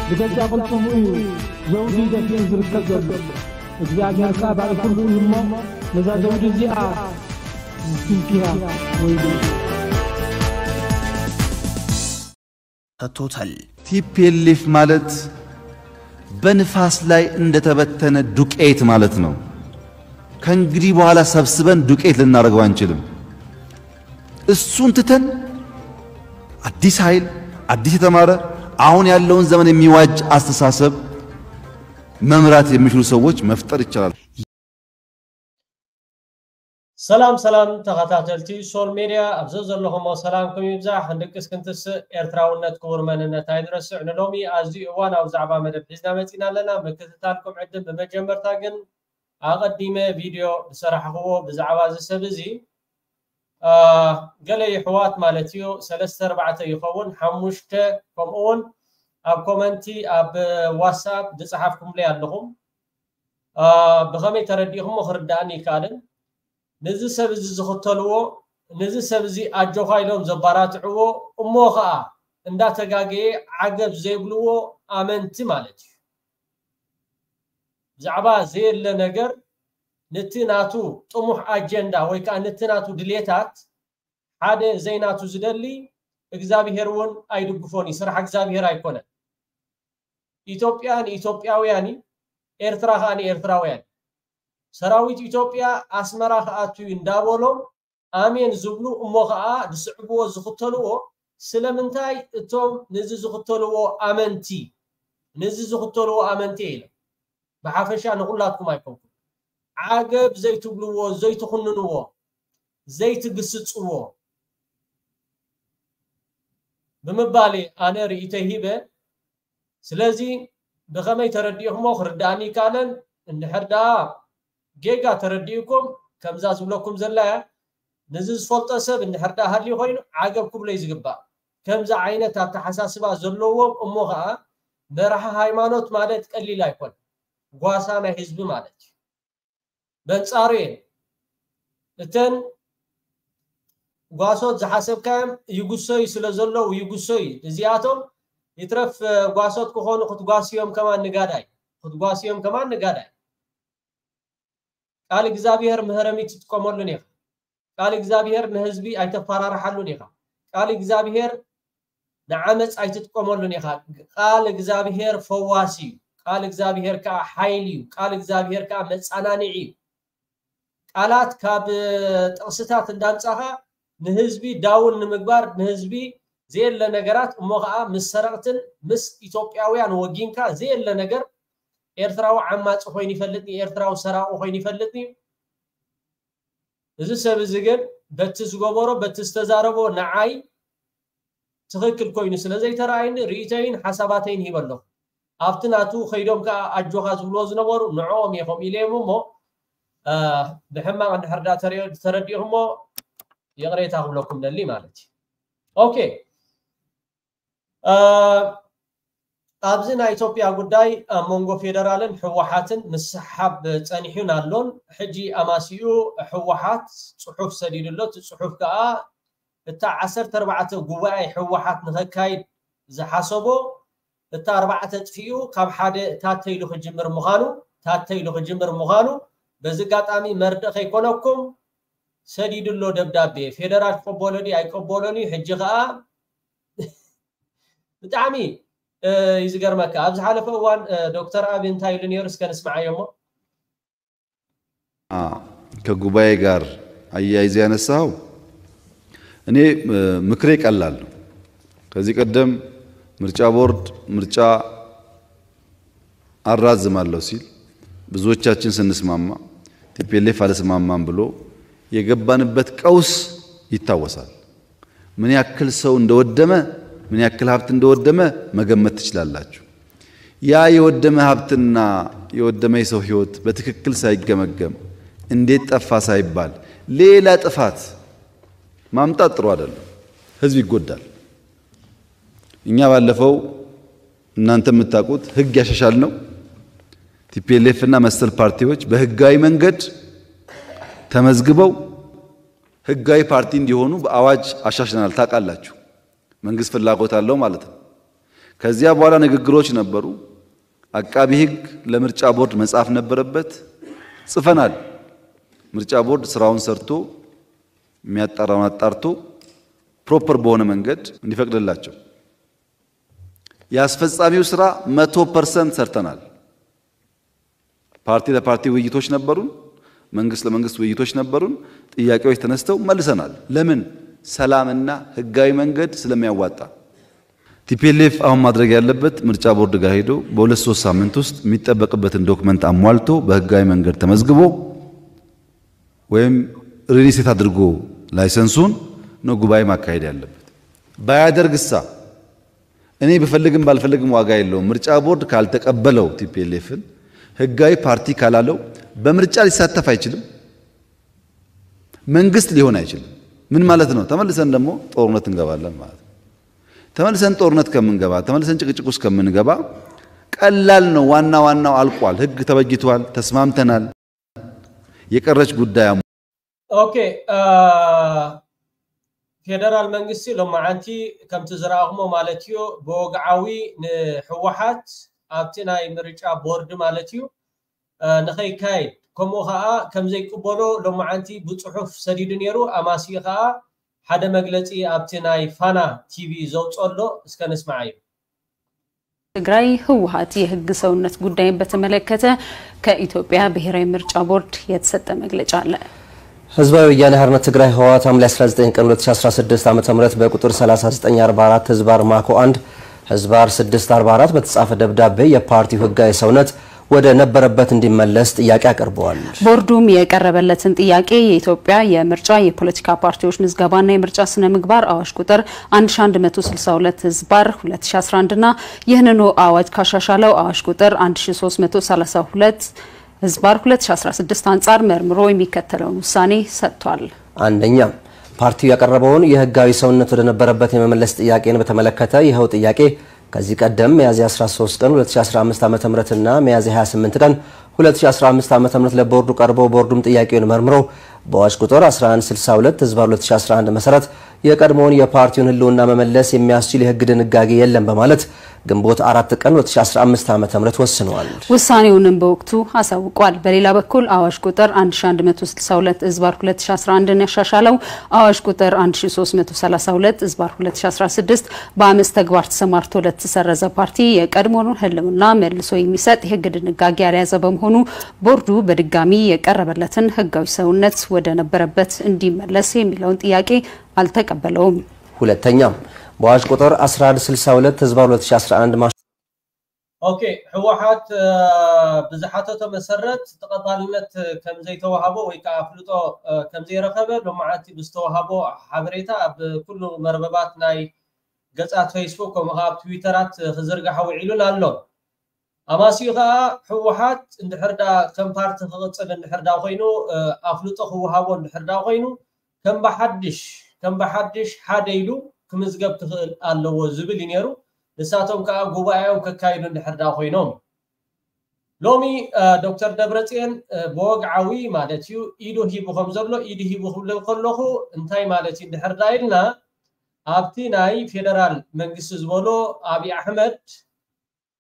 ብገዛእ ቅልጽሙ እዩ ዘውዲ ደፊኡ ዝርከብ ዘሎ። እግዚኣብሔር ከኣ ባዕሉ ኩሉ እዩ እሞ፣ ነዛ ዘውዲ እዚኣ ዝትንክያ ወይሉ። ተቶታል ቲፒኤልኤፍ ማለት በንፋስ ላይ እንደተበተነ ዱቄት ማለት ነው። ከእንግዲህ በኋላ ሰብስበን ዱቄት ልናደርገው አንችልም። እሱን ትተን አዲስ ኃይል፣ አዲስ የተማረ፣ አሁን ያለውን ዘመን የሚዋጅ አስተሳሰብ መምራት የሚችሉ ሰዎች መፍጠር ይቻላል። ሰላም ሰላም ተኸታተልቲ ሶል ሜድያ፣ ኣብ ዘዘለኹሞ ሰላምኩም ይብዛሕ። ክንድቅስ ክንትስእ ኤርትራውነት ክቡር መንነት ኣይንረስዕ። ንሎሚ ኣዝዩ እዋናዊ ዛዕባ መደብ ሒዝና መጺና ኣለና። ምክትታልኩም ዕድም። ብመጀመርታ ግን ኣቐዲመ ቪድዮ ዝሰራሕኽዎ ብዛዕባ እዚ ሰብ እዚ፣ አ፣ ገለ ይሕዋት ማለት እዩ፣ ሰለስተ ኣርባዕተ ይኸውን፣ ሓሙሽተ፣ ከምኡ እውን ኣብ ኮመንቲ ኣብ ዋትስኣፕ ዝጸሓፍኩምለይ ኣለኹም። አ፣ ብኸመይ ተረዲእኹሞ ክርዳእኒ ይከኣልን። ነዚ ሰብ እዚ ዝኽተልዎ፣ ነዚ ሰብ እዚ ኣጆኻ ኢሎም ዘባራትዕዎ፣ እሞ ኸኣ እንዳተጋገየ ዓገብ ዘይብልዎ ኣመንቲ ማለት እዩ። ብዛዕባ ዘየለ ነገር ነቲ ናቱ ጥሙሕ ኣጀንዳ ወይ ከኣ ነቲ ናቱ ድሌታት ሓደ ዘይናቱ ዝደሊ እግዚኣብሄር እውን ኣይድግፎን እዩ። ስራሕ እግዚኣብሄር ኣይኮነን። ኢትዮጵያ ንኢትዮጵያውያን እዩ፣ ኤርትራ ከኣ ንኤርትራውያን። ሰራዊት ኢትዮጵያ ኣስመራ ክኣቱ እዩ እንዳበሎም ኣሜን ዝብሉ እሞ ከኣ ዝስዕብዎ ዝኽተልዎ ስለምንታይ እቶም ነዚ ዝኽተልዎ ኣመንቲ ነዚ ዝኽተልዎ ኣመንቲ ኢለ ብሓፈሻ ንኹላትኩም ኣይኮንኩን ዓገብ ዘይትብልዎ ዘይትኹንንዎ ዘይትግስጽዎ ብምባል ኣነ ርእይተይ ሂበ። ስለዚ ብኸመይ ተረዲእኹሞ ክርዳእኒ ይከኣለን። እንድሕር ደኣ ጌጋ ተረዲእኩም ከምዛ ዝብለኩም ዘላ እያ። ነዚ ዝፈልጦ ሰብ እንድሕር ደኣ ሃልዩ ኮይኑ ዓገብ ክብሎ እዩ ዝግባእ። ከምዚ ዓይነት ኣተሓሳስባ ዘለዎም እሞ ኸኣ መራሒ ሃይማኖት ማለት ቀሊል ኣይኮን ጓሳ ናይ ህዝቢ ማለት እዩ። በንጻሩ እየን እተን ጓሶት ዝሓሰብካዮም ይጉሰዩ ስለ ዘለዉ ይጉሰዩ። እዚኣቶም ይትረፍ ጓሶት ክኾኑ ክትጓስዮም ከማን ንጋዳይ ክትጓስዮም ከማን ንጋዳይ ቃል እግዚኣብሔር ምህረሚ ትጥቀመሉን ኢኻ። ቃል እግዚኣብሔር ንህዝቢ ኣይተፈራርሓሉን ኢኻ። ቃል እግዚኣብሔር ንዓመፅ ኣይትጥቀመሉን ኢኻ። ቃል እግዚኣብሔር ፈዋሲ እዩ። ቃል እግዚኣብሔር ከዓ ሓይሊ እዩ። ቃል እግዚኣብሔር ከዓ መፃናንዒ እዩ። ቃላት ካብ ጥቕስታት እንዳምፃኻ ንህዝቢ ዳውን ንምግባር ንህዝቢ ዘየለ ነገራት እሞ ከዓ ምስ ሰረቕትን ምስ ኢትዮጵያውያን ወጊንካ ዘየለ ነገር ኤርትራዊ ዓማፂ ኮይኑ ይፈልጥኒ፣ ኤርትራዊ ሰራቂ ኮይኑ ይፈልጥኒ። እዚ ሰብ እዚ ግን በቲ ዝገበሮ በቲ ዝተዛረቦ ንዓይ ትኽክል ኮይኑ ስለ ዘይተረኣይኒ ርእይተይን ሓሳባተይን ሂበ ኣለኹ። ኣብቲ ናቱ ከይዶም ከዓ ኣጆኻ ዝብልዎ ዝነበሩ ንዕኦም እየ ከምኡ ኢለዮም እሞ ብሕማቕ እንድሕር ዳ ተረዲእኹሞ ይቕሬታ ክብለኩም ደሊ ማለት እዩ። ኦኬ ኣብዚ ናይ ኢትዮጵያ ጉዳይ ኣብ መንጎ ፌደራልን ህወሓትን ምስሓብ ፀኒሑን ኣሎን። ሕጂ ኣማሲኡ ህወሓት ፅሑፍ ሰዲዱ ኣሎ። እቲ ፅሑፍ ከዓ እታ ዓሰርተ ኣርባዕተ ጉባኤ ህወሓት ንኸካይድ ዝሓሰቦ እታ ኣርባዕተ ጥፊኡ ካብ ሓደ ታተ ኢሉ ክጅምር ምዃኑ ታተ ኢሉ ክጅምር ምዃኑ በዚ ኣጋጣሚ መርድእ ከይኮነኩም ሰዲዱ ኣሎ ደብዳቤ። ፌደራል ክቕበሎ ድዩ ኣይቀበሎን እዩ። ሕጂ ከዓ ብጣዕሚ እዩ ዝገርመካ። ኣብ ዝሓለፈ እዋን ዶክተር ኣቢ እንታይ ኢሉ ነይሩ? እስከ ንስምዓዮ እሞ። ከጉባኤ ጋር አያይዘ ያነሳው እኔ ምክሬ ቀላል ነው። ከዚህ ቀደም ምርጫ ቦርድ ምርጫ አራዝማለሁ ሲል ብዙዎቻችን ስንስማማ ቲፒኤልኤፍ አልስማማም ብሎ የገባንበት ቀውስ ይታወሳል። ምን ያክል ሰው እንደወደመ ምን ያክል ሀብት እንደወደመ መገመት ትችላላችሁ። ያ የወደመ ሀብትና የወደመ የሰው ህይወት በትክክል ሳይገመገም እንዴት ጠፋ ሳይባል ሌላ ጥፋት ማምጣት ጥሩ አይደለም። ህዝብ ይጎዳል። እኛ ባለፈው እናንተ የምታውቁት ህግ ያሻሻልነው ቲፒኤልኤፍ እና መሰል ፓርቲዎች በህጋዊ መንገድ ተመዝግበው ህጋዊ ፓርቲ እንዲሆኑ በአዋጅ አሻሽለናል። ታውቃላችሁ፣ መንግስት ፍላጎት አለው ማለት ነው። ከዚያ በኋላ ንግግሮች ነበሩ። አቃቢ ህግ ለምርጫ ቦርድ መጻፍ ነበረበት፣ ጽፈናል። ምርጫ ቦርድ ስራውን ሰርቶ የሚያጣራውን አጣርቶ ፕሮፐር በሆነ መንገድ እንዲፈቅድላቸው። የአስፈጻሚው ስራ መቶ ፐርሰንት ሰርተናል። ፓርቲ ለፓርቲ ውይይቶች ነበሩን፣ መንግስት ለመንግስት ውይይቶች ነበሩን። ጥያቄዎች ተነስተው መልሰናል። ለምን? ሰላምና ህጋዊ መንገድ ስለሚያዋጣ። ቲፒኤልኤፍ አሁን ማድረግ ያለበት ምርጫ ቦርድ ጋር ሄዶ በሁለት ሶስት ሳምንት ውስጥ የሚጠበቅበትን ዶክመንት አሟልቶ በህጋዊ መንገድ ተመዝግቦ ወይም ሪሊስቴት አድርጎ ላይሰንሱን ነው ጉባኤ ማካሄድ ያለበት። ባያደርግሳ እኔ ብፈልግም ባልፈልግም ዋጋ የለውም። ምርጫ ቦርድ ካልተቀበለው ቲፒኤልኤፍን ህጋዊ ፓርቲ ካላለው በምርጫ ሊሳተፍ አይችልም፣ መንግስት ሊሆን አይችልም። ምን ማለት ነው? ተመልሰን ደግሞ ጦርነት እንገባለን ማለት ነው። ተመልሰን ጦርነት ከምንገባ፣ ተመልሰን ጭቅጭቅ ውስጥ ከምንገባ ቀላል ነው። ዋና ዋናው አልቋል። ህግ ተበጅቷል፣ ተስማምተናል። የቀረች ጉዳይ አሞ- ኦኬ፣ ፌደራል መንግስቲ ሎማዓንቲ ከምቲ ዝረኣኹሞ ማለት እዩ፣ ብወግዓዊ ንህወሓት ኣብቲ ናይ ምርጫ ቦርድ ማለት እዩ ንኸይካየድ፣ ከምኡ ከዓ ከምዘይቅበሎ ሎማዓንቲ ብፅሑፍ ሰዲዱ ነይሩ። ኣማሲኡ ከዓ ሓደ መግለፂ ኣብቲ ናይ ፋና ቲቪ ዘውፅኦ ኣሎ። እስከ ንስማዓዮ። ትግራይ ህወሓት የህግ ሰውነት ጉዳይን በተመለከተ ከኢትዮጵያ ብሔራዊ ምርጫ ቦርድ የተሰጠ መግለጫ አለ። ህዝባዊ ወያነ ሓርነት ትግራይ ህወሓት ሐምሌ አስራ ዘጠኝ ቀን ሁለት ሺ አስራ ስድስት ዓመተ ምህረት በቁጥር ሠላሳ ዘጠኝ አርባ አራት ህዝባር ማኮ አንድ ህዝባር ስድስት አርባ አራት በተጻፈ ደብዳቤ የፓርቲው ህጋዊ ሰውነት ወደ ነበረበት እንዲመለስ ጥያቄ አቅርበዋል። ቦርዱም የቀረበለትን ጥያቄ የኢትዮጵያ የምርጫ የፖለቲካ ፓርቲዎች ምዝገባና የምርጫ ስነ ምግባር አዋጅ ቁጥር አንድ ሺ አንድ መቶ ስልሳ ሁለት ህዝባር ሁለት ሺ አስራ አንድ እና ይህንኑ አዋጅ ካሻሻለው አዋጅ ቁጥር አንድ ሺ ሶስት መቶ ሠላሳ ሁለት ህዝባር ሁለት ሺ አስራ ስድስት አንጻር መርምሮ የሚከተለውን ውሳኔ ሰጥቷል። አንደኛ፣ ፓርቲው ያቀረበውን የህጋዊ ሰውነት ወደ ነበረበት የመመለስ ጥያቄን በተመለከተ ይኸው ጥያቄ ከዚህ ቀደም ሚያዝያ አስራ ሶስት ቀን ሁለት ሺ አስራ አምስት ዓመተ ምህረት እና ሚያዝያ ሃያ ስምንት ቀን ሁለት ሺ አስራ አምስት ዓመተ ምህረት ለቦርዱ ቀርቦ ቦርዱም ጥያቄውን መርምሮ በአዋጅ ቁጥር አስራ አንድ ስልሳ ሁለት ህዝባር ሁለት ሺ አስራ አንድ መሰረት የቀድሞውን የፓርቲውን ህልውና መመለስ የሚያስችል የህግ ድንጋጌ የለም በማለት ግንቦት አራት ቀን ሁለት ሺ አስራ አምስት ዓመተ ምህረት ወስነዋል። ውሳኔውንም በወቅቱ አሳውቋል። በሌላ በኩል አዋጅ ቁጥር አንድ ሺ አንድ መቶ ስልሳ ሁለት ህዝባር ሁለት ሺ አስራ አንድን ያሻሻለው አዋጅ ቁጥር አንድ ሺ ሶስት መቶ ሠላሳ ሁለት ህዝባር ሁለት ሺ አስራ ስድስት በአመፅ ተግባር ተሰማርቶ ለተሰረዘ ፓርቲ የቀድሞውን ህልውና መልሶ የሚሰጥ የህግ ድንጋጌ ያልያዘ በመሆኑ ቦርዱ በድጋሚ የቀረበለትን ህጋዊ ሰውነት ወደ ነበረበት እንዲመለስ የሚለውን ጥያቄ አልተቀበለውም። ሁለተኛ፣ በአዋጅ ቁጥር አስራ አንድ ስልሳ ሁለት ህዝባር ሁለት ሺ አስራ አንድ ማሽ- ኦኬ፣ ህወሓት ብዝሓተቶ መሰረት ተቐባልነት ከምዘይተዋሃቦ ወይ ከዓ ኣፍልጦ ከምዘይረኸበ ሎማዓንቲ ብዝተዋሃቦ ሓበሬታ ኣብ ኩሉ መርበባት ናይ ገፃት ፌስቡክ ከምኡ ከዓ ኣብ ትዊተራት ክዝርጋሕ ውዒሉን ኣሎ። ኣማሲኡ ከዓ ህወሓት እንድሕር ዳ ከም ፓርቲ ክቕፅል እንድሕር ዳ ኮይኑ ኣፍልጦ ክወሃቦ እንድሕር ዳ ኮይኑ ከም ብሓድሽ ከም ብሓድሽ ሓደ ኢሉ ክምዝገብ ክኽእል ኣለዎ ዝብል እዩ ነይሩ። ንሳቶም ከዓ ጉባኤኦም ከካይዱ እንድሕር ዳ ኮይኖም ሎሚ ዶክተር ደብረፅዮን ብወግዓዊ ማለት እዩ ኢዱ ሂቡ ከም ዘሎ ኢዱ ሂቡ ክብል ከለኹ እንታይ ማለት እዩ እንድሕር ዳ ኢልና ኣብቲ ናይ ፌደራል መንግስቲ ዝበሎ ኣብይ ኣሕመድ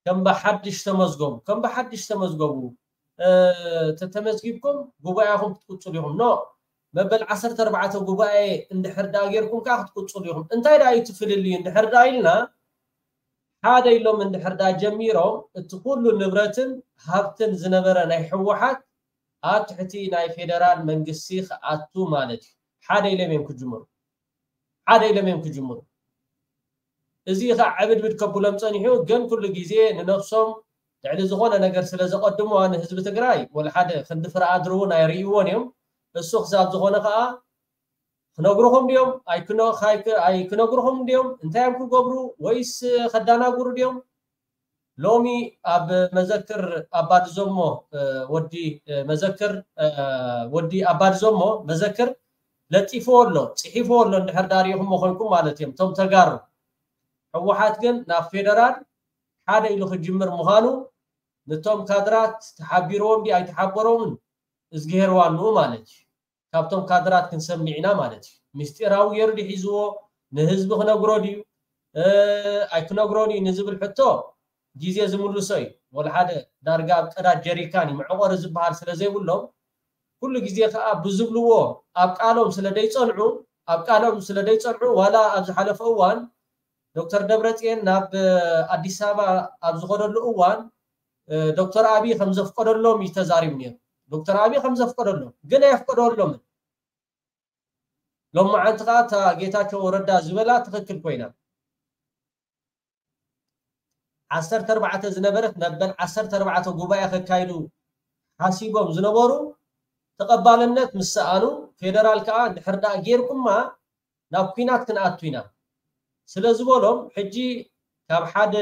ከም ብሓድሽ ተመዝገቡ ከም ብሓድሽ ተመዝገቡ ተተመዝጊብኩም ጉባኤኹም ክትቅፅሉ ኢኹም ኖ መበል ዓሰርተ ኣርባዕተ ጉባኤ እንድሕር ዳ ጌርኩም ከዓ ክትቅፅሉ ኢኹም እንታይ ዳ እዩ ትፍልልዩ እንድሕር ዳ ኢልና ሓደ ኢሎም እንድሕር ዳ ጀሚሮም እቲ ኩሉ ንብረትን ሃብትን ዝነበረ ናይ ህወሓት ኣብ ትሕቲ ናይ ፌደራል መንግስቲ ክኣቱ ማለት እዩ ሓደ ኢሎም እዮም ክጅምሩ ሓደ ኢሎም እዮም ክጅምሩ እዚ ከዓ ዕብድብድ ከብሎም ፀኒሑ ግን ኩሉ ግዜ ንነብሶም ልዕሊ ዝኾነ ነገር ስለ ዘቐድሙዋ ንህዝቢ ትግራይ ወላ ሓደ ክንዲ ፍረ ኣድሪ እውን ኣይርእይዎን እዮም እሱ ክሳብ ዝኾነ ከዓ ክነግሩኹም ድዮም ኣይክነግሩኹም ድዮም እንታይ እዮም ክገብሩ ወይስ ከዳናግሩ ድዮም ሎሚ ኣብ መዘክር ኣባድዞሞ ወዲ መዘክር ወዲ ኣባድዞሞ መዘክር ለጢፍዎ ኣሎ ፅሒፍዎ ኣሎ እንድሕር ዳሪኹሞ ኮይንኩም ማለት እዮም እቶም ተጋሩ ህወሓት ግን ናብ ፌደራል ሓደ ኢሉ ክጅምር ምዃኑ ንቶም ካድራት ተሓቢርዎም ዲ ኣይተሓበሮምን እዝግሄር ዋንኡ ማለት እዩ ካብቶም ካድራት ክንሰምዕ ኢና ማለት እዩ ምስጢራዊ ገይሩ ዲሒዝዎ ንህዝቢ ክነግሮ ድዩ ኣይክነግሮን እዩ ንዝብል ሕቶ ግዜ ዝምልሶ እዩ። ወላ ሓደ ዳርጋ ኣብ ቀዳድ ጀሪካን እዩ መዕቆሪ ዝበሃል ስለ ዘይብሎም፣ ኩሉ ግዜ ከዓ ብዝብልዎ ኣብ ቃሎም ስለ ደይፀንዑ ኣብ ቃሎም ስለ ደይፀንዑ ዋላ ኣብ ዝሓለፈ እዋን ዶክተር ደብረፅየን ናብ ኣዲስ ኣበባ ኣብ ዝኸደሉ እዋን ዶክተር ኣብይ ከም ዘፍቀደሎም እዩ ተዛሪቡ ነይሩ። ዶክተር ኣብይ ከም ዘፍቀደሎም ግን ኣየፍቀደሎምን። ሎማዓንቲ ከዓ እታ ጌታቸው ረዳ ዝበላ ትኽክል ኮይና ዓሰርተ ኣርባዕተ ዝነበረት መበል ዓሰርተ ኣርባዕተ ጉባኤ ከካይዱ ሓሲቦም ዝነበሩ ተቐባልነት ምስ ሰኣኑ ፌደራል ከዓ ድሕር ደኣ ጌርኩማ ናብ ኲናት ክንኣቱ ኢና ስለ ዝበሎም ሕጂ ካብ ሓደ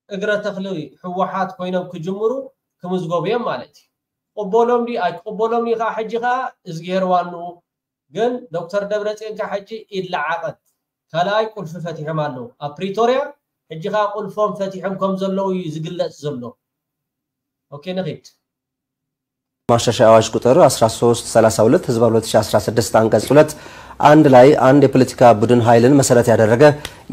እግረ ተኽሊ ህወሓት ኮይኖም ክጅምሩ ክምዝገቡ እዮም ማለት እዩ። ቅበሎም ድዩ ኣይቅበሎም ድዩ ከዓ ሕጂ ከዓ እዝግሄር ዋንኡ ግን ዶክተር ደብረፅዮን ከዓ ሕጂ ኢድ ለዓቐት ካልኣይ ቁልፊ ፈቲሖም ኣለዉ ኣብ ፕሪቶርያ። ሕጂ ከዓ ቁልፎም ፈቲሖም ከም ዘለዉ እዩ ዝግለፅ ዘሎ። ኦኬ ንኺድ። ማሻሻያ አዋጅ ቁጥር አስራ ሶስት ሠላሳ ሁለት ህዝባር ሁለት ሺህ አስራ ስድስት አንቀጽ ሁለት አንድ ላይ አንድ የፖለቲካ ቡድን ኃይልን መሰረት ያደረገ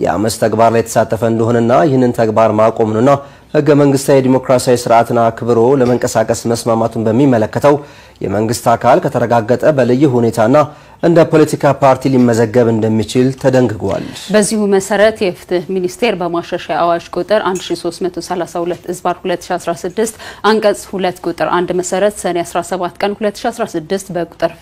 የአመፅ ተግባር ላይ የተሳተፈ እንደሆነና ይህንን ተግባር ማቆሙንና ህገ መንግስታዊ ዲሞክራሲያዊ ስርዓትን አክብሮ ለመንቀሳቀስ መስማማቱን በሚመለከተው የመንግስት አካል ከተረጋገጠ በልዩ ሁኔታና እንደ ፖለቲካ ፓርቲ ሊመዘገብ እንደሚችል ተደንግጓል። በዚሁ መሰረት የፍትህ ሚኒስቴር በማሻሻያ አዋጅ ቁጥር አንድ ሺ ሶስት መቶ ሠላሳ ሁለት ዝባር ሁለት ሺ አስራ ስድስት አንቀጽ ሁለት ቁጥር አንድ መሰረት ሰኔ አስራ ሰባት ቀን ሁለት ሺ አስራ ስድስት በቁጥር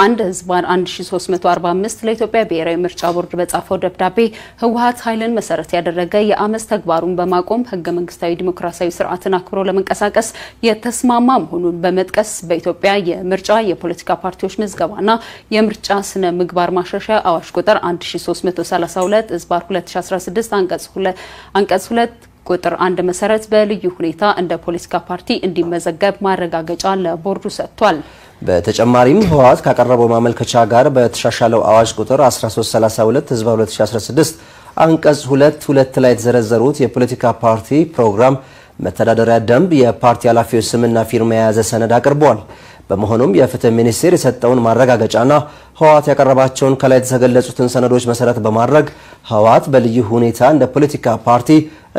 አንድ ዝባር አንድ ሺ ሶስት መቶ አርባ አምስት ለኢትዮጵያ ብሔራዊ ምርጫ ቦርድ በጻፈው ደብዳቤ ህወሓት ኃይልን መሰረት ያደረገ የአመፅ ተግባሩን በማቆም ህገ መንግስታዊ ዲሞክራሲያዊ ስርዓትን አክብሮ ለመንቀሳቀስ የተስማማ መሆኑን በመጥቀስ በኢትዮጵያ የምርጫ የፖለቲካ ፓርቲዎች ምዝገባና የምርጫ ስነ ምግባር ማሻሻያ አዋጅ ቁጥር አንድ ሺ ሶስት መቶ ሠላሳ ሁለት ዝባር ሁለት ሺ አስራ ስድስት አንቀጽ ሁለት አንቀጽ ሁለት ቁጥር አንድ መሰረት በልዩ ሁኔታ እንደ ፖለቲካ ፓርቲ እንዲመዘገብ ማረጋገጫ ለቦርዱ ሰጥቷል። በተጨማሪም ህወሓት ካቀረበው ማመልከቻ ጋር በተሻሻለው አዋጅ ቁጥር አስራ ሶስት ሠላሳ ሁለት ህዝባር ሁለት ሺ አስራ ስድስት አንቀጽ ሁለት ሁለት ላይ የተዘረዘሩት የፖለቲካ ፓርቲ ፕሮግራም፣ መተዳደሪያ ደንብ፣ የፓርቲ ኃላፊዎች ስምና ፊርማ የያዘ ሰነድ አቅርበዋል። በመሆኑም የፍትህ ሚኒስቴር የሰጠውን ማረጋገጫና ህወሓት ያቀረባቸውን ከላይ የተገለጹትን ሰነዶች መሰረት በማድረግ ህወሓት በልዩ ሁኔታ እንደ ፖለቲካ ፓርቲ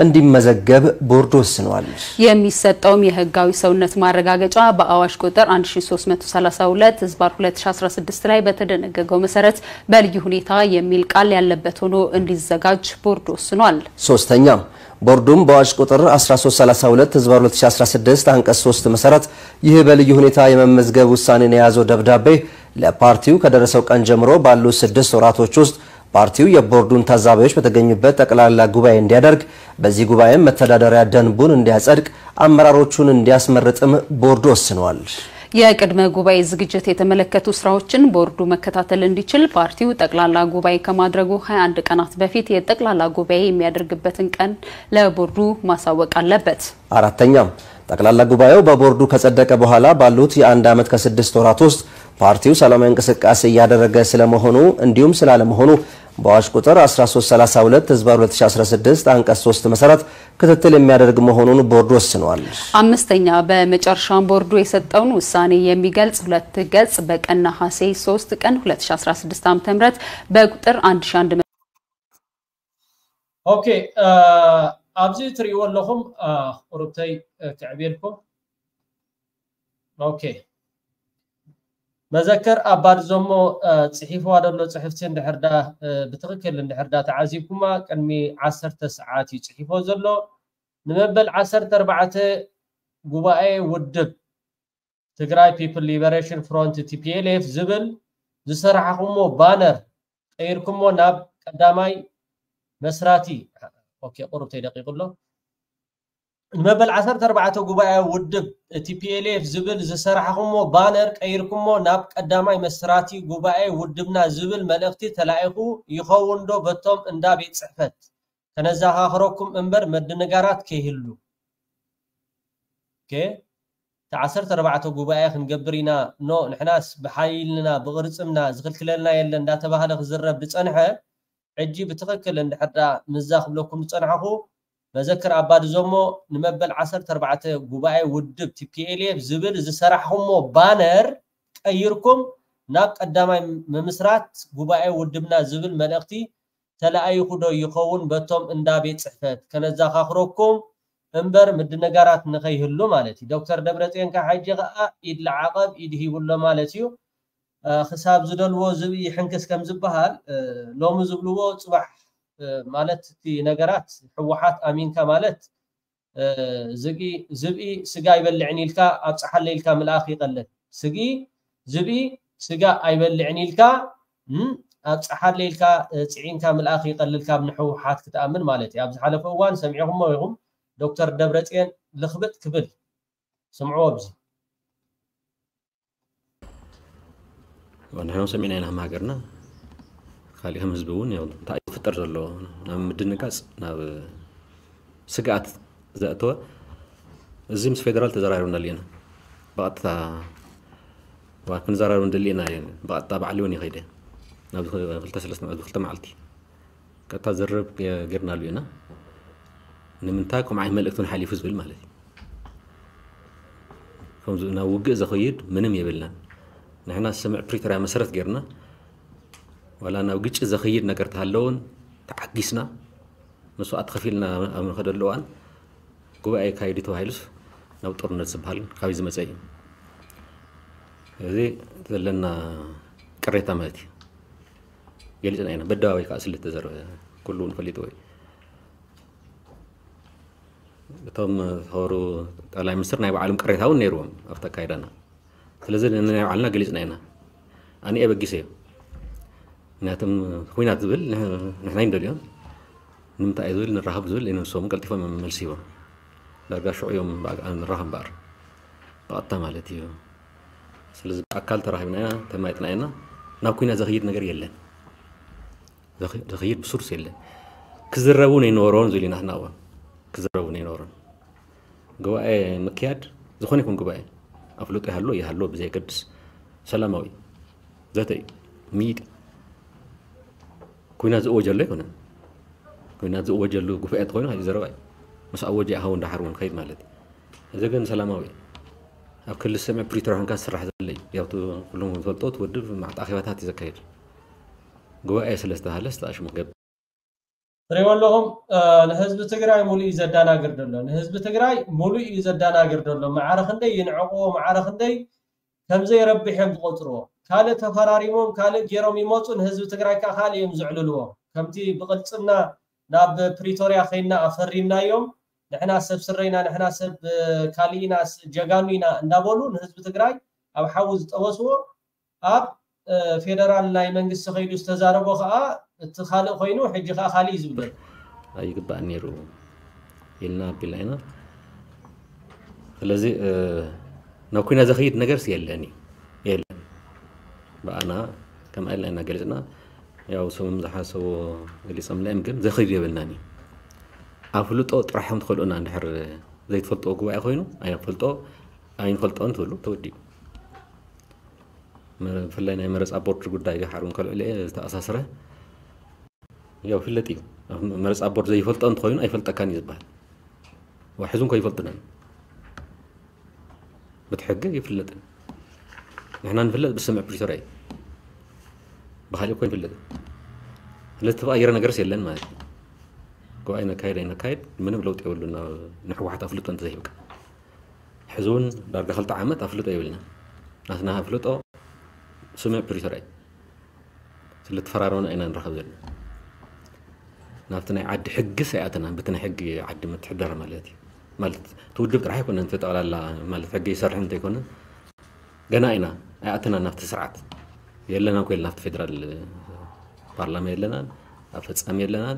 እንዲመዘገብ ቦርዱ ወስኗል። የሚሰጠውም የህጋዊ ሰውነት ማረጋገጫ በአዋጅ ቁጥር አንድ ሺ ሶስት መቶ ሠላሳ ሁለት ዝባር ሁለት ሺ አስራ ስድስት ላይ በተደነገገው መሰረት በልዩ ሁኔታ የሚል ቃል ያለበት ሆኖ እንዲዘጋጅ ቦርዱ ወስኗል። ሶስተኛ፣ ቦርዱም በአዋጅ ቁጥር አስራ ሶስት ሠላሳ ሁለት ዝባር ሁለት ሺ አስራ ስድስት አንቀጽ ሶስት መሰረት ይህ በልዩ ሁኔታ የመመዝገብ ውሳኔን የያዘው ደብዳቤ ለፓርቲው ከደረሰው ቀን ጀምሮ ባሉ ስድስት ወራቶች ውስጥ ፓርቲው የቦርዱን ታዛቢዎች በተገኙበት ጠቅላላ ጉባኤ እንዲያደርግ፣ በዚህ ጉባኤም መተዳደሪያ ደንቡን እንዲያጸድቅ፣ አመራሮቹን እንዲያስመርጥም ቦርዱ ወስኗል። የቅድመ ጉባኤ ዝግጅት የተመለከቱ ስራዎችን ቦርዱ መከታተል እንዲችል ፓርቲው ጠቅላላ ጉባኤ ከማድረጉ ሃያ አንድ ቀናት በፊት የጠቅላላ ጉባኤ የሚያደርግበትን ቀን ለቦርዱ ማሳወቅ አለበት። አራተኛ፣ ጠቅላላ ጉባኤው በቦርዱ ከጸደቀ በኋላ ባሉት የአንድ ዓመት ከስድስት ወራት ውስጥ ፓርቲው ሰላማዊ እንቅስቃሴ እያደረገ ስለመሆኑ እንዲሁም ስላለመሆኑ በአዋጅ ቁጥር አስራ ሶስት ሠላሳ ሁለት ህዝባር ሁለት ሺ አስራ ስድስት አንቀጽ ሶስት መሰረት ክትትል የሚያደርግ መሆኑን ቦርዱ ወስኗል። አምስተኛ፣ በመጨረሻም ቦርዱ የሰጠውን ውሳኔ የሚገልጽ ሁለት ገጽ በቀን ነሐሴ ሶስት ቀን ሁለት ሺ አስራ ስድስት ዓመተ ምህረት በቁጥር አንድ ሺ አንድ መቶ ኦኬ፣ ኣብዚ ትርእይዎ ኣለኹም ቁርብተይ ክዕብየልኩም። ኦኬ፣ መዘከር ኣባድዞሞ ጽሒፍዋ ዘሎ ጽሕፍቲ እንድሕር ዳ ብትኽክል እንድሕር ዳ ተዓዚብኩማ ቅድሚ ዓሰርተ ሰዓት እዩ ጽሒፎ ዘሎ። ንመበል ዓሰርተ ኣርባዕተ ጉባኤ ውድብ ትግራይ ፒፕል ሊበሬሽን ፍሮንት ቲፒኤልኤፍ ዝብል ዝሰራሕኹሞ ባነር ቀይርኩሞ ናብ ቀዳማይ መስራቲ ኦኬ ቁሩብ ተይደቂቁ ኣሎ። ንመበል ዓሰርተ ኣርባዕተ ጉባኤ ውድብ ቲፒኤልኤፍ ዝብል ዝሰራሕኹሞ ባነር ቀይርኩሞ ናብ ቀዳማይ መስራቲ ጉባኤ ውድብና ዝብል መልእኽቲ ተላኢኹ ይኸውን ዶ በቶም እንዳ ቤት ጽሕፈት? ከነዘኻኽረኩም እምበር መድንጋራት ከይህሉ። ኦኬ፣ እቲ ዓሰርተ ኣርባዕተ ጉባኤ ክንገብር ኢና፣ ኖ፣ ንሕናስ ብሓይልና ብቕርጽምና ዝኽልክለልና የለን እንዳተባህለ ክዝረብ ዝጸንሐ፣ ሕጂ ብትኽክል እንድሕር ዳ ምዛ ክብለኩም ዝጸንሐኹ፣ መዘክር ኣባድዞሞ ንመበል ዓሰርተ ኣርባዕተ ጉባኤ ውድብ ቲፒኤልኤፍ ዝብል ዝሰራሕኹሞ ባነር ቀይርኩም ናብ ቀዳማይ ምምስራት ጉባኤ ውድብና ዝብል መልእኽቲ ተለኣይኹ ዶ ይኸውን በቶም እንዳ ቤት ጽሕፈት? ከነዘኻኽረኩም እምበር ምድንጋራት ንኸይህሉ ማለት እዩ። ዶክተር ደብረጽዮን ካብ ሕጂ ኸኣ ኢድ ለዓቐብ ኢድ ሂቡ ኣሎ ማለት እዩ። እ፣ ክሳብ ዝደልዎ ዝብኢ ይሕንክስ ከም ዝበሃል፣ እ፣ ሎሚ ዝብልዎ ጽባሕ፣ እ፣ ማለት እቲ ነገራት ህወሓት ኣሚንካ ማለት፣ እ፣ ዝብኢ፣ ዝብኢ ስጋ ኣይበልዕን ኢልካ ኣብጽሓለይ ኢልካ ምልኣኽ ይቐልል። ስግኢ፣ ዝብኢ ስጋ ኣይበልዕን ኢልካ፣ እም፣ ኣብጽሓለይ ኢልካ፣ እ፣ ጽዒንካ ምልኣኽ ይቐልል ካብ ንህወሓት ክትኣምን ማለት እዩ። ኣብ ዝሓለፈ እዋን ሰሚዕኹሞ ኢኹም ዶክተር ደብረጽዮን ልኽብጥ ክብል ስምዕዎ ኣብዚ። ንሕና እውን ሰሚዕና ኢና ከም ሃገርና። ካሊእ ከም ህዝቢ እውን ያው እንታይ እዩ ዝፍጠር ዘሎ ናብ ምድንጋፅ፣ ናብ ስግኣት ዘእተወ እዚ ምስ ፌደራል ተዘራሪብናሉ ኢና። ብቐጥታ ዋ ክንዘራረብ ንደሊ ኢና እየ። ብቐጥታ ባዕሊ እውን ይኸይደ ናብ ክልተ ሰለስተ መ- ክልተ መዓልቲ ቀጥታ ዝርርብ ገ- ጌርናሉ ኢና። ንምንታይ ከምኡ ዓይነት መልእክቲ እውን ሓሊፉ ዝብል ማለት እዩ። ከምዚ ናብ ውግእ ዘኸይድ ምንም የብልናን። ንሕና ስምምዕ ፕሪቶርያ መሰረት ጌርና ዋላ ናብ ግጭት ዘኸይድ ነገር ተሃለውን ተዓጊስና መስዋእቲ ከፊልና ኣብ ንኸደሉ እዋን ጉባኤ ካይዱ ተባሂሉስ ናብ ጦርነት ዝበሃል ካብይ ዝመፀ እዩ። እዚ ዘለና ቅሬታ ማለት እዩ። ገሊፅና ኢና። በደባባይ ከዓ ስለ ዝተዘረበ ኩሉ እውን ፈሊጥዎ እዩ። እቶም ዝኸበሩ ጠቅላይ ሚኒስትር ናይ ባዕሎም ቅሬታ እውን ነይርዎም ኣብቲ ኣካይዳና። ስለዚ ንናይ ባዕልና ገሊፅና ኢና። ኣነ ኣበጊሰ እዩ። ምክንያቱም ኩናት ዝብል ንሕ- ንሕና ይንደልዮ። ንምንታይ እዩ ዝብል ንራኸብ ዝብል ንሶም ቀልጢፎም መልሲ ሂቦም። ዳርጋ ሽዑ እዮም ብኣካል ንራኸብ እምበኣር ብቐጥታ ማለት እዩ። ስለዚ ብኣካል ተራኺብና ኢና፣ ተማይጥና ኢና። ናብ ኩናት ዘኽይድ ነገር የለን። ዘኽ- ዘኽይድ ብሱርስ የለን። ክዝረቡ ነይነበሮን ዝብል ኢና ንሕና እውን። ክዝረቡ ነይነበሮን። ጉባኤ ምክያድ ዝኾነ ይኹን ጉባኤ ኣፍልጦ ይሃሎ ይሃሎ ብዘየገድስ ሰላማዊ ዘተ እዩ። ምይጥ ኩናት ዝእወጀሉ ኣይኮነን። ኩናት ዝእወጀሉ ጉባኤ እንተኾይኑ ካልእ ዘረባ እዩ። ምስ ኣወጀ ይኸውን ደሓር እውን ከይድ ማለት እዩ። እዚ ግን ሰላማዊ እዩ። ኣብ ክልል ሰሜን ፕሪቶርያ ኮንካ ዝስራሕ ዘሎ እዩ። ያው እቲ ኩሎም ዝፈልጦ እቲ ውድብ መዓት ኣኼባታት እዩ ዘካየድ። ጉባኤ ስለ ዝተባሃለ ዝተኣሽሙ ክገብር ትሪእዎ ኣለኹም። እ፣ ንህዝቢ ትግራይ ሙሉእ እዩ ዘደናግር ዘሎ። ንህዝቢ ትግራይ ሙሉእ እዩ ዘደናግር ዘሎ። ማዕረ ክንደይ ይንዕቕዎ፣ ማዕረ ክንደይ ከም ዘይረብሕ እዮም ዝቆፅርዎ። ካልእ ተፈራሪሞም ካልእ ገይሮም ይመፁ፣ ንህዝቢ ትግራይ ከዓ ካልእ እዮም ዝዕልልዎ። ከምቲ ብቅልፅምና ናብ ፕሪቶርያ ከይና ኣፈሪምናዮም፣ ንሕና ሰብ ስረይና፣ ንሕና ሰብ፣ እ፣ ካልእ ኢና፣ ስ- ጀጋኑ ኢና እንዳበሉ ንህዝቢ ትግራይ ኣብ ሓዊ ዝጠበስዎ፣ ኣብ፣ እ፣ ፌደራል ናይ መንግስቲ ከይዱ ዝተዛረቦ ከዓ እቲ ካልእ ኮይኑ፣ ሕጂ ከዓ ካልእ እዩ ዝብል ዘሎ። ኣይግባእን ነይሩ ኢልና ኣቢልና ኢና። ስለዚ እ፣ ናብ ኩናት ዘኽይድ ነገርስ የለን እዩ። የለን። ብኣና ከምኣ ኢልና ኢና ገሊፅና። ያው ሰብም ዝሓሰቦ ገሊፆምና እዮም፣ ግን ዘኽይድ የብልናን እዩ። ኣፍልጦ ጥራሕ እዮም ትኸልኡና። እንድሕር ዘይትፈልጥዎ ጉባኤ ኮይኑ ኣይንፈልጦ ኣይንፈልጦን ትብሉ ተወዲኡ። መ- ብፍላይ ናይ መረፃ ቦርድ ጉዳይ ደሓር እውን ከልዕሎ እየ ዝተኣሳስረ። ያው ይፍለጥ እዩ። ኣብ መረፃ ቦርድ ዘይፈልጦ እንተኾይኑ ኣይፈልጠካን እዩ ዝበሃል። ዋ ሕዚ እንኳ ይፈልጡና። በቲ ሕጊ ይፍለጥ። ንሕና ንፍለጥ ብስምምዕ ፕሪቶርያ እዩ። ብካሊእ እኮ ይፍለጥ። ስለዚ ተቐይረ ነገርስ የለን ማለት እዩ። ጉባኤ ነካይድ ኣይነካይድ ምንም ለውጢ የብሉን። ናብ ንሕወሓት ኣፍልጦ እንተዘይሂብካ ሕዚ እውን ዳርጋ ክልተ ዓመት ኣፍልጦ የብልና። ናትና ኣፍልጦ ስምምዕ ፕሪቶርያ እዩ። ስለተፈራረምና ኢና ንራኸብ ዘለና። ናብቲ ናይ ዓዲ ሕግስ ኣይኣተናን። በቲ ናይ ሕጊ ዓዲ ምትሕደር ማለት እዩ። ማለት እቲ ውድብ ጥራሕ ኣይኮነን፣ እቲ ጠቕላላ ማለት ሕጊ ይሰርሕ እንተይኮነ ገና ኢና ኣይኣተናን ናብቲ ስርዓት። የለና እኮ የለና፣ ኣብቲ ፌደራል ፓርላማ የለናን፣ ኣብ ፈጻሚ የለናን፣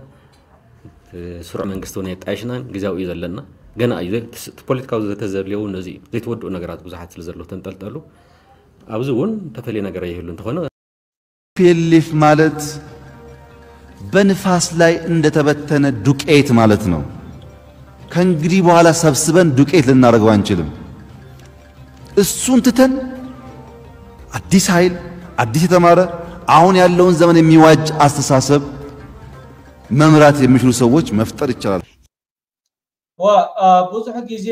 እቲ ስሩዕ መንግስቲ እውን ኣየጣየሽናን፣ ግዜያዊ እዩ ዘለና። ገና እዩ ዘይ- እቲ ፖለቲካዊ ዘተ ዘድልዮ እውን ነዚ እዩ። ዘይተወድኡ ነገራት ብዙሓት ስለ ዘለዉ ተንጠልጠሉ ኣብዚ እውን ተፈልየ ነገር ኣይህሉ እንተኾነ ፒኤልኤፍ ማለት በንፋስ ላይ እንደተበተነ ዱቄት ማለት ነው። ከእንግዲህ በኋላ ሰብስበን ዱቄት ልናደርገው አንችልም። እሱን ትተን አዲስ ኃይል፣ አዲስ የተማረ፣ አሁን ያለውን ዘመን የሚዋጅ አስተሳሰብ መምራት የሚችሉ ሰዎች መፍጠር ይቻላል። ዋ፣ አ፣ ብዙሕ ግዜ፣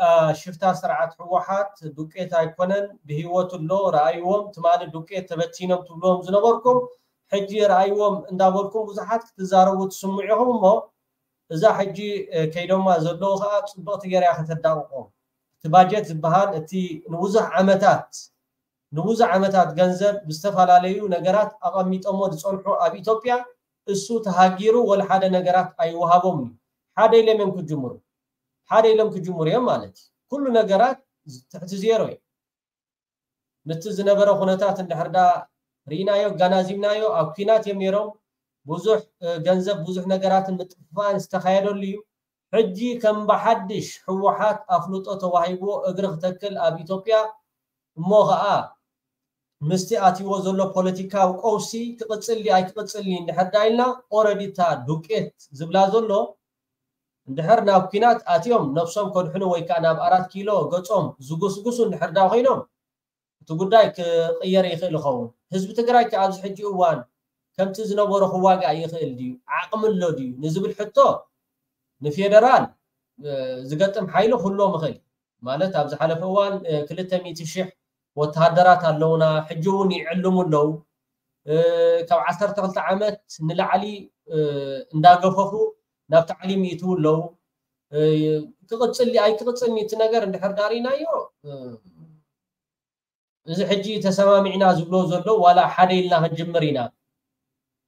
አ፣ ሽፍታ ስርዓት ህወሓት ዱቄት ኣይኮነን፣ ብህይወት ኣሎ፣ ረኣይዎም፣ ትማሊ ዱቄት ተበቲኖም ትብልዎም ዝነበርኩም፣ ሕጂ ረኣይዎም እንዳበልኩም ብዙሓት ክትዛረቡ ትስምዑ ኢኹም እሞ እዛ ሕጂ ከይዶማ ዘለዉ ከዓ ፅብቕቲ ገይራ ከተዳቕቆም። እቲ ባጀት ዝበሃል እቲ ንብዙሕ ዓመታት ንብዙሕ ዓመታት ገንዘብ ብዝተፈላለዩ ነገራት ኣቐሚጦሞ ዝፀንሑ ኣብ ኢትዮጵያ እሱ ተሃጊሩ ወላ ሓደ ነገራት ኣይወሃቦም እዩ። ሓደ ኢሎም እዮም ክጅምሩ ሓደ ኢሎም ክጅምሩ እዮም ማለት እዩ። ኩሉ ነገራት ትሕቲ ዜሮ እዩ። ነቲ ዝነበረ ኩነታት እንድሕር ዳ ርኢናዮ ኣጋናዚብናዮ ኣብ ኲናት እዮም ነይሮም። ብዙሕ ገንዘብ ብዙሕ ነገራትን ምጥፍፋእን ዝተኻየደሉ እዩ። ሕጂ ከም ብሓድሽ ህወሓት ኣፍልጦ ተዋሂብዎ እግሪ ክተክል ኣብ ኢትዮጵያ እሞ ኸዓ ምስቲ ኣትይዎ ዘሎ ፖለቲካዊ ቀውሲ ክቕፅል ድዩ ኣይክቕፅል ድዩ እንድሕር ዳ ኢልና ኦረዲ እታ ዱቄት ዝብላ ዘሎ እንድሕር ናብ ኲናት ኣትዮም ነብሶም ከድሕኑ ወይ ከዓ ናብ ኣራት ኪሎ ገፆም ዝጉስጉሱ እንድሕር ዳ ኮይኖም እቲ ጉዳይ ክቕየር ይኽእል ይኸውን። ህዝቢ ትግራይ ከ ኣብዚ ሕጂ እዋን ከምቲ ዝነበሮ ክዋጋእ ይኽእል ድዩ? ዓቕሚ ኣሎ ድዩ? ንዝብል ሕቶ ንፌደራል ዝገጥም ሓይሊ ክህልዎም ይኽእል ማለት ኣብ ዝሓለፈ እዋን ክልተ ሚእቲ ሽሕ ወተሃደራት ኣለውና ሕጂ እውን ይዕልሙ ኣለዉ። ካብ ዓሰርተ ክልተ ዓመት ንላዕሊ እንዳገፈፉ ናብ ታዕሊም ይእትዉ ኣለዉ። ክቕፅል ኣይክቕፅል እቲ ነገር እንድሕር ዳሪናዮ እዚ ሕጂ ተሰማሚዕና ዝብሎ ዘሎ ዋላ ሓደ ኢልና ክንጅምር ኢና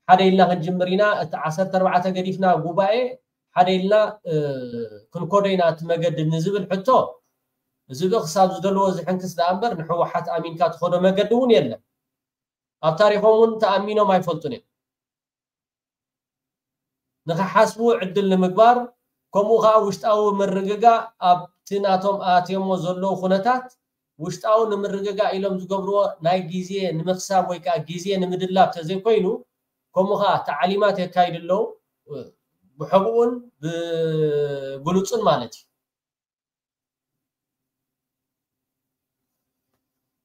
ሓደ ኢልና ክንጅምር ኢና እቲ ዓሰርተ ኣርባዕተ ገዲፍና ጉባኤ ሓደ ኢልና ክንኮዶ ኢና እቲ መገዲ ንዝብል ሕቶ እዚ ብእ ክሳብ ዝደልዎ ዝሕንክስ ደኣ እምበር ንሕወሓት ኣሚንካ ትኸዶ መገዲ እውን የለን ኣብ ታሪኾም እውን ተኣሚኖም ኣይፈልጡን እዮም ንኽሓስቡ ዕድል ንምግባር ከምኡ ከዓ ውሽጣዊ ምርግጋእ ኣብቲ ናቶም ኣትዮሞ ዘለዉ ኩነታት ውሽጣዊ ንምርግጋእ ኢሎም ዝገብርዎ ናይ ግዜ ንምኽሳብ ወይ ከዓ ግዜ ንምድላብ ተዘይኮይኑ ከምኡ ከዓ ተዓሊማት የካይዱ ኣለዉ ብሕቡኡን ብግሉፁን ማለት እዩ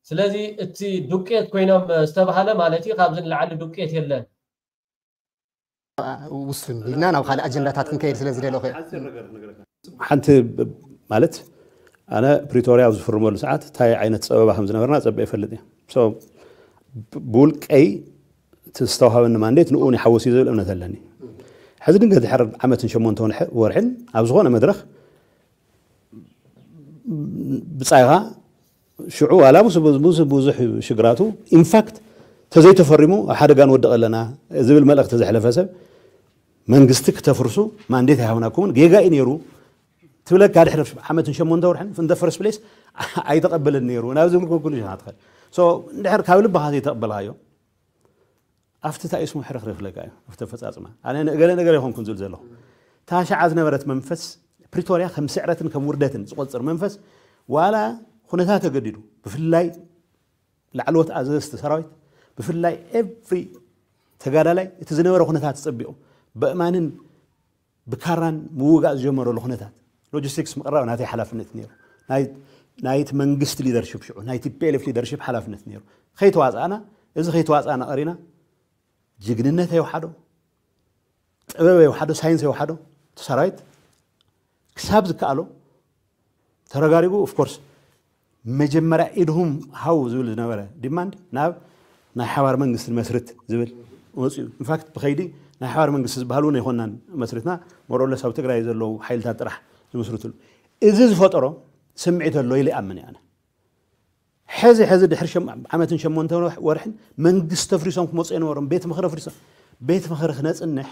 ስለዚ እቲ ዱቄት ኮይኖም ዝተባሃለ ማለት እዩ ካብዚ ንላዕሊ ዱቄት የለን ውስን ኢልና ናብ ካልእ ኣጀንዳታት ክንከይድ ስለ ዝደለኹ እየ። ሓንቲ ማለት ኣነ ፕሪቶርያ ኣብ ዝፍርመሉ ሰዓት እንታይ ዓይነት ፀበባ ከም ዝነበርና ፀበ ይፈልጥ እየ። ብውልቀይ ዝተዋሃበኒ ማንዴት ንኡ ይሓወስ እዩ ዝብል እምነት ኣለኒ። ሕዚ ድንገት ድሕር ዓመትን ሸሞንተ ወርሕን ኣብ ዝኾነ መድረኽ ብጻይኻ ሽዑ ዋላ ምስ ብዙሕ ሽግራቱ ኢንፋክት ተዘይተፈሪሙ ኣብ ሓደጋ ንወድቕ ኣለና ዝብል መልእኽቲ ዘሕለፈ ሰብ መንግስቲ ክተፍርሱ ማንዴት ኣይሃብናኩምን ጌጋ እዩ ነይሩ ትብለካ ድሕሪ ዓመትን ሸሞንተ ወርሕን ፍንደ ፈርስት ፕሌስ ኣይተቐበልን ነይሩ ናብ ዝብል ኮንክሉዥን ትኸድ እንድሕር ካብ ልብኻ ዘይተቐበልካዮ ኣብቲ እንታይ ስሙ ሕርኽርኽ ለካ እዩ ኣብቲ ኣፈፃፅማ ኣነ ንእገለ ነገር ይኾንኩን ዝብል ዘለኹ እታ ሸዓ ዝነበረት መንፈስ ፕሪቶርያ ከም ስዕረትን ከም ውርደትን ዝቆፅር መንፈስ ዋላ ኩነታት ተገዲዱ ብፍላይ ላዕለዎት ኣዘዝቲ ሰራዊት ብፍላይ ኤቭሪ ተጋዳላይ እቲ ዝነበረ ኩነታት ፀቢቑ በእማንን ብካራን ምውጋእ ዝጀመረሉ ኩነታት ሎጂስቲክስ ምቕራብ ናተይ ሓላፍነት ነይሩ ናይቲ መንግስቲ ሊደርሽፕ ሽዑ ናይ ቲፒኤልኤፍ ሊደርሽፕ ሓላፍነት ነይሩ ከይተዋፃእና እዚ ከይተዋፃእና ቀሪና ጅግንነት የውሓዶ ጥበብ የውሓዶ ሳይንስ የውሓዶ እቲ ሰራዊት ክሳብ ዝከኣሎ ተረጋሪጉ ኦፍኮርስ መጀመርያ ኢድሁም ሃው ዝብል ዝነበረ ዲማንድ ናብ ናይ ሓባር መንግስቲ መስርት ዝብል መፅኡ ኢንፋክት ብኸይዲ ናይ ሓባር መንግስቲ ዝበሃል እውን ኣይኮናን መስርትና ሞሮለስ ኣብ ትግራይ ዘለዉ ሓይልታት ጥራሕ ዝምስርትሉ እዚ ዝፈጠሮ ስምዒት ኣሎ ኢለ ይኣምን እየ ሕዚ ሕዚ ድሕሪ ዓመትን ሸሞንተ ወርሕን መንግስቲ ተፍሪሶም ክመፁ የነበሮም ቤት ምኽሪ ኣፍሪሶም ቤት ምኽሪ ክነፅንሕ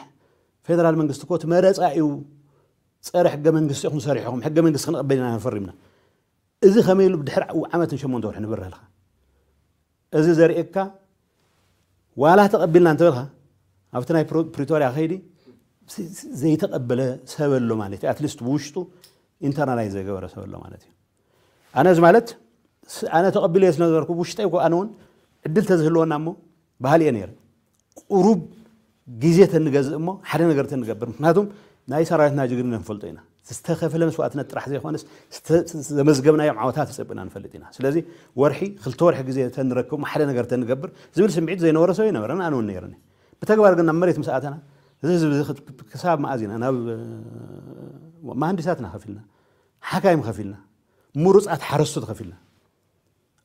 ፌደራል መንግስቲ እኮ እቲ መረፃ እዩ ፀረ ሕገ መንግስቲ ኢኹም ሰሪሕኹም ሕገ መንግስቲ ክንቕበል ኢና ፈሪምና እዚ ከመይ ኢሉ ብድሕሪ ዓመትን ሸሞንተ ወርሒ ንብረልካ እዚ ዘርእየካ ዋላ ተቐቢልና እንተበልካ ኣብቲ ናይ ፕሪቶሪያ ከይዲ ዘይተቐበለ ሰብ ኣሎ ማለት እዩ ኣትሊስት ብውሽጡ ኢንተርናላይዝ ዘገበረ ሰብ ኣሎ ማለት እዩ ኣነ እዚ ማለት ኣነ ተቐቢለ ስለ ነበርኩ ውሽጠይ እኮ ኣነ እውን ዕድል ተዝህልወና እሞ ባህል እየ ነይረ ቁሩብ ግዜ ተንገዝእ እሞ ሓደ ነገር ተንገብር ምክንያቱም ናይ ሰራዊትና ጅግንነት ንፈልጦ ኢና ዝተኸፈለ መስዋእትነት ጥራሕ ዘይኮነስ ዘመዝገብናዮም ዓወታት ተፀብና ንፈልጥ ኢና ስለዚ ወርሒ ክልተ ወርሒ ግዜ ተንረክብ ሓደ ነገር ተንገብር ዝብል ስምዒት ዘይነበረ ሰብ ይነበረን ኣነ እውን ነይረኒ ብተግባር ግን ናብ መሬት ምስ ኣተና እዚ ህዝቢ ክሳብ መኣዝ ኢና ናብ መሃንዲሳትና ከፊልና ሓካይም ከፊልና ምሩፃት ሓረስቶት ከፊልና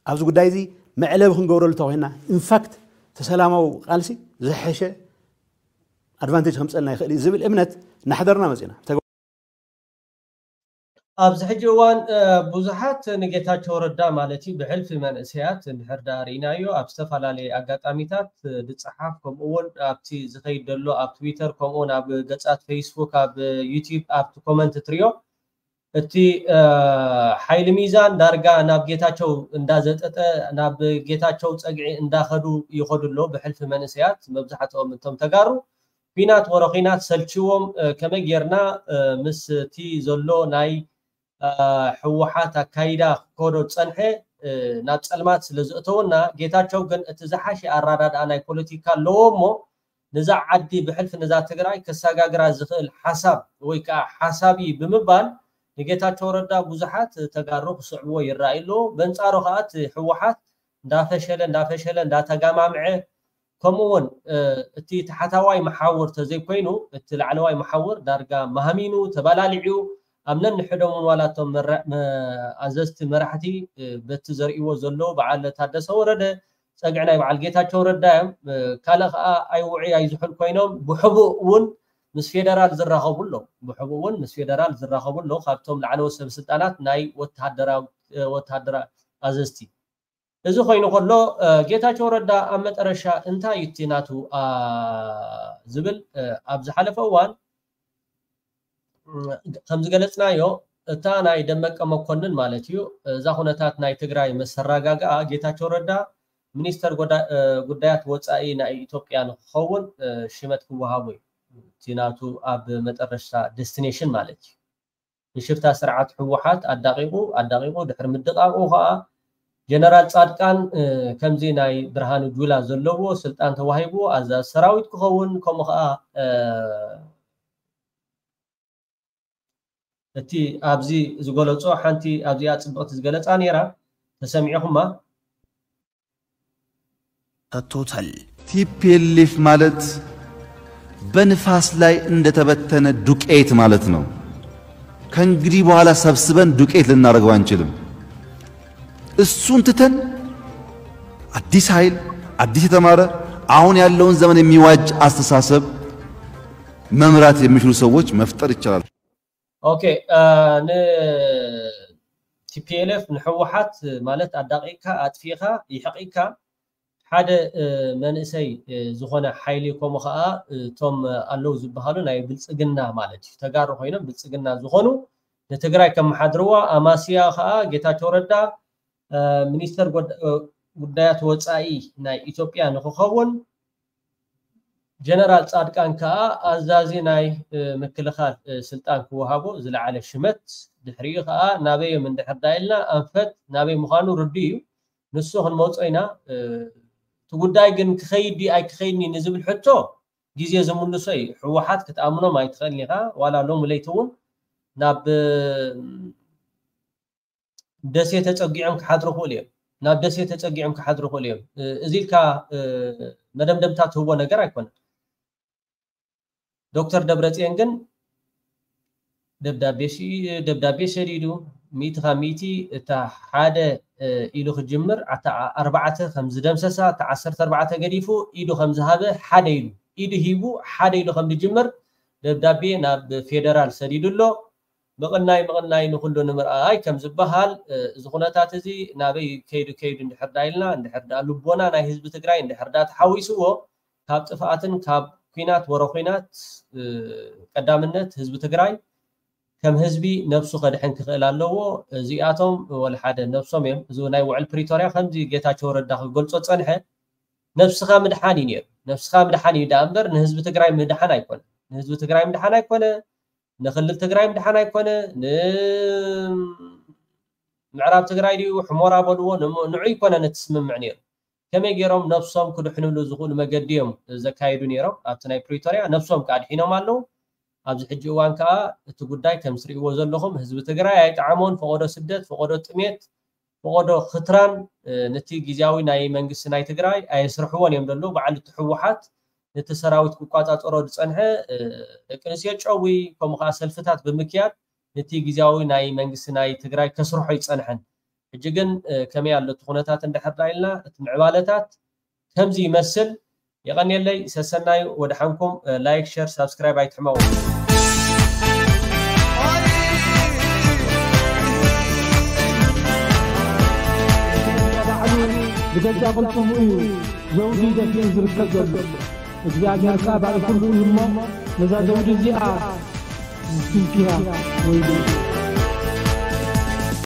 ኣብዚ ጉዳይ እዚ መዕለቢ ክንገብረሉ ተኮይና ኢንፋክት እቲ ሰላማዊ ቃልሲ ዝሐሸ ኣድቫንቴጅ ከምፀልና ይኽእል እዩ ዝብል እምነት እናሕደርና መፂና። ኣብዚ ሕጂ እዋን ብዙሓት ንጌታቸው ረዳ ማለት እዩ ብሕልፊ መንእሰያት እንድሕር ዳ ርኢናዮ ኣብ ዝተፈላለየ ኣጋጣሚታት ዝፀሓፍ፣ ከምኡ እውን ኣብቲ ዝኸይድ ዘሎ ኣብ ትዊተር፣ ከምኡ እውን ኣብ ገፃት ፌስቡክ፣ ኣብ ዩቲዩብ ኣብቲ ኮመንት ትሪኦ እቲ ሓይሊ ሚዛን ዳርጋ ናብ ጌታቸው እንዳዘጠጠ፣ ናብ ጌታቸው ፀግዒ እንዳኸዱ ይኸዱ ኣሎ ብሕልፊ መንእሰያት። መብዛሕትኦም እቶም ተጋሩ ኲናት ወረ ኲናት ሰልችዎም፣ ከመይ ጌርና ምስ እቲ ዘሎ ናይ ህወሓት ኣካይዳ ክከዶ ዝፀንሐ ናብ ፀልማት ስለ ዘእተወና፣ ጌታቸው ግን እቲ ዝሓሸ ኣራዳድኣ ናይ ፖለቲካ ኣለዎ እሞ ነዛ ዓዲ ብሕልፊ ነዛ ትግራይ ከሰጋግራ ዝኽእል ሓሳብ ወይ ከዓ ሓሳብ እዩ ብምባል ንጌታቸው ረዳ ብዙሓት ተጋሩ ክስዕብዎ ይረኣዩ ኣለዎ። በንፃሩ ከዓ እቲ ህወሓት እንዳፈሸለ እንዳፈሸለ እንዳተጋማምዐ፣ ከምኡ እውን እቲ ታሕታዋይ መሓውር ተዘይኮይኑ እቲ ላዕለዋይ መሓውር ዳርጋ ማህሚኑ ተባላሊዑ፣ ኣብ ነንሕዶም እውን ዋላ እቶም ኣዘዝቲ መራሕቲ በቲ ዘርእዎ ዘለዉ በዓል ታደሰ ወረደ ፀግዒ ናይ በዓል ጌታቸው ረዳ እዮም። ካልእ ከዓ ኣይውዑይ ኣይዝሑል ኮይኖም ብሕቡእ እውን ምስ ፌደራል ዝራኸቡ ኣለዉ። ብሕቡእ እውን ምስ ፌደራል ዝራኸቡ ኣለዉ ካብቶም ላዕለዎት ሰብ ስልጣናት ናይ ወታደራዊ ወታደራዊ ኣዘዝቲ። እዚ ኮይኑ ከሎ ጌታቸው ረዳ ኣብ መጠረሻ እንታይ እዩ እቲ ናቱ ዝብል ኣብ ዝሓለፈ እዋን ከም ዝገለፅናዮ እታ ናይ ደመቀ መኮንን ማለት እዩ እዛ ኩነታት ናይ ትግራይ መሰራጋግኣ ጌታቸው ረዳ ሚኒስተር ጉዳያት ወፃኢ ናይ ኢትዮጵያ ንክኸውን ሽመት ክወሃቦ እዩ እቲ ናቱ ኣብ መጠረሽታ ዴስቲኔሽን ማለት እዩ። ንሽፍታ ስርዓት ህወሓት ኣዳቂቁ ኣዳቂቁ ድሕሪ ምድቃቁ ከዓ ጀነራል ፃድቃን ከምዚ ናይ ብርሃኑ ጁላ ዘለዎ ስልጣን ተዋሂቡ ኣዛዚ ሰራዊት ክኸውን ከምኡ ከዓ እቲ ኣብዚ ዝገለፆ ሓንቲ ኣብዚኣ ፅብቕቲ ዝገለፃ ነይራ ተሰሚዕኹማ። ሰጥቶታል። ቲፒኤልኤፍ ማለት በንፋስ ላይ እንደተበተነ ዱቄት ማለት ነው። ከእንግዲህ በኋላ ሰብስበን ዱቄት ልናደርገው አንችልም። እሱን ትተን አዲስ ኃይል፣ አዲስ የተማረ አሁን ያለውን ዘመን የሚዋጅ አስተሳሰብ መምራት የሚችሉ ሰዎች መፍጠር ይቻላል። ኦኬ፣ ን ቲፒኤልኤፍ ንህወሓት ማለት ኣዳቂቅካ ኣጥፊእካ ይሕቂካ ሓደ መንእሰይ ዝኾነ ሓይሊ ከምኡ ከዓ እቶም ኣለዉ ዝበሃሉ ናይ ብልፅግና ማለት እዩ ተጋሩ ኮይኖም ብልፅግና ዝኾኑ ንትግራይ ከመሓድርዋ ኣማስያ ከዓ ጌታቸው ረዳ ሚኒስተር ጉዳያት ወፃኢ ናይ ኢትዮጵያ ንክኸውን ጀነራል ፃድቃን ከዓ ኣዛዚ ናይ ምክልኻል ስልጣን ክወሃቦ ዝለዓለ ሽመት ድሕሪኡ ከዓ ናበዮም እንድሕር ዳ ኢልና ኣንፈት ናበይ ምዃኑ ርዱ እዩ። ንሱ ክንመፆ ኢና። እቲ ጉዳይ ግን ክኸይድ ድዩ ኣይክኸይድን እዩ ንዝብል ሕቶ ግዜ ዝምልሶ እዩ። ህወሓት ክትኣምኖም ኣይትኽእልን ኢኻ። ዋላ ሎሚ ለይቲ እውን ናብ ደሴ ተፀጊዖም ክሓድሩ ክእሉ እዮም። ናብ ደሴ ተፀጊዖም ክሓድሩ ክእሉ እዮም። እዚ ኢልካ መደምደምታ ትህቦ ነገር ኣይኮነን። ዶክተር ደብረፅዮን ግን ደብዳቤ ደብዳቤ ሰዲዱ ሚእቲ ካብ ሚእቲ እታ ሓደ ኢሉ ክጅምር ኣታ ኣርባዕተ ከም ዝደምሰሳ እታ ዓሰርተ ኣርባዕተ ገዲፉ ኢዱ ከም ዝሃበ ሓደ ኢሉ ኢዱ ሂቡ ሓደ ኢሉ ከም ዝጅምር ደብዳቤ ናብ ፌደራል ሰዲዱ ኣሎ። ምቕናይ ምቕናይ ንኹሉ ንምርኣይ ከም ዝበሃል እዚ ኩነታት እዚ ናበይ ከይዱ ከይዱ እንድሕር ዳ ኢልና እንድሕር ዳ ልቦና ናይ ህዝቢ ትግራይ እንድሕር ዳ ተሓዊስዎ ካብ ጥፍኣትን ካብ ኲናት ወረ ኲናት ቀዳምነት ህዝቢ ትግራይ ከም ህዝቢ ነብሱ ከድሕን ክኽእል ኣለዎ። እዚኣቶም ወላ ሓደ ነብሶም እዮም። እዚ ናይ ውዕል ፕሪቶርያ ከምዚ ጌታቸው ረዳ ክገልጾ ዝጸንሐ ነብስኻ ምድሓን እዩ ነይሩ። ነብስኻ ምድሓን እዩ ደኣ እምበር ንህዝቢ ትግራይ ምድሓን ኣይኮነ። ንህዝቢ ትግራይ ምድሓን ኣይኮነ፣ ንክልል ትግራይ ምድሓን ኣይኮነ፣ ንምዕራብ ትግራይ ድዩ ሕሞራ በልዎ፣ ንዑ ኣይኮነን እቲ ስምምዕ ነይሩ። ከመይ ገይሮም ነብሶም ክድሕንሉ ዝኽእሉ መገዲ እዮም ዘካየዱ ነይሮም ኣብቲ ናይ ፕሪቶርያ ነብሶም ከዓ ድሒኖም ኣለዉ። ኣብዚ ሕጂ እዋን ከዓ እቲ ጉዳይ ከም ትሪእዎ ዘለኹም ህዝቢ ትግራይ ኣይጠዓሞን። ፈቐዶ ስደት፣ ፈቐዶ ጥሜት፣ ፈቐዶ ክትራን ነቲ ግዝያዊ ናይ መንግስቲ ናይ ትግራይ ኣየስርሕዎን እዮም ዘለዉ። በዓል እቲ ህወሓት ነቲ ሰራዊት ክቋፃፀሮ ዝፀንሐ ደቂ ኣንስትዮ ጨዊ ከምኡ ከዓ ሰልፍታት ብምክያድ ነቲ ግዝያዊ ናይ መንግስቲ ናይ ትግራይ ከስርሖ ይፀንሐን። ሕጂ ግን ከመይ ኣሎ እቲ ኩነታት እንድሕር ዳ ኢልና እቲ ምዕባለታት ከምዚ ይመስል። የቐንየለይ። ሰሰናዩ ወድሓንኩም። ላይክ፣ ሸር፣ ሳብስክራይብ ኣይትሕመቑ። ባዕሉ ብገዛ ቅልጽሙ እዩ ዘውዲ ደፊኡ ዝርከብ ዘሎ። እግዚኣብሔር ከኣ ባዕሉ ኩሉ እዩ እሞ ነዛ ዘውዲ እዚኣ ስንኪያ ወይ